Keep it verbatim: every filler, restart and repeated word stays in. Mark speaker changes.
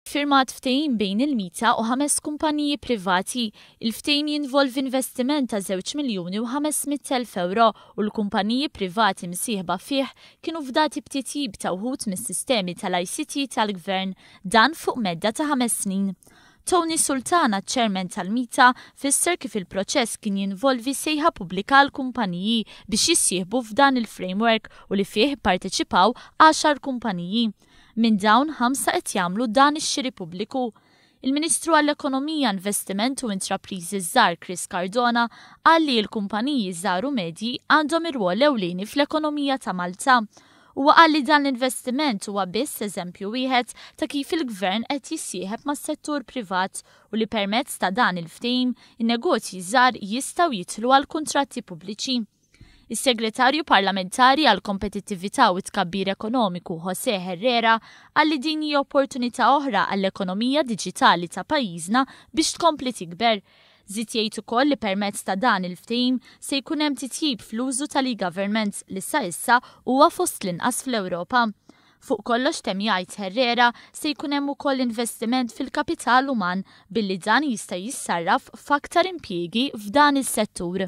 Speaker 1: Firmat ftehim bejn il-MITA u ħames kumpaniji privati. Il-ftehim jinvolvi investiment ta' żewġ miljuni u ħames mitt elf euro u l-kumpaniji privati msieħba fih kienu fdati b'titjib ta' wħud mis-sistemi tal-I C T tal-Gvern, dan fuq medda ta' ħames snin. Tony Sultana, chairman tal-MITA, fisser kif il-proċess kien jinvolvi sejħa pubblika għal kumpaniji biex jissieħbu f'dan il-framework u li fih parteċipaw għaxar kumpaniji. Minn dawn, ħamsa qed jagħmlu dan ix-xiri pubbliku. Il-Ministru għall-Ekonomija, Investiment u Intrapriżi Żgħar Chris Cardona qal li l-kumpaniji żgħar u medji għandhom ir-rwol ewlieni fl-ekonomija ta' Malta. Huwa qal li dan l-investiment huwa biss eżempju wieħed ta' kif il-Gvern qed jissieħeb mas-settur privat u li permezz ta' dan il-ftehim in-negozji żgħar jistgħu jidħlu għal kuntratti pubbliċi. Is-Segretarju Parlamentari għal Kompetittività u Tkabbir Ekonomiku Jose Herrera qal li din hija opportunità oħra għall-ekonomija diġitali ta' pajjiżna biex tkompli tikber. Żied jgħid ukoll li permezz ta' dan il-ftehim se jkun hemm titjib fl-użu tal-e-government li sa issa huwa fost l-inqas fl-Ewropa. Fuq kollox, temm jgħid Herrera, se jkun hemm ukoll investiment fil-kapital uman billi dan jista' jissarraf f'aktar impjiegi f'dan is-settur.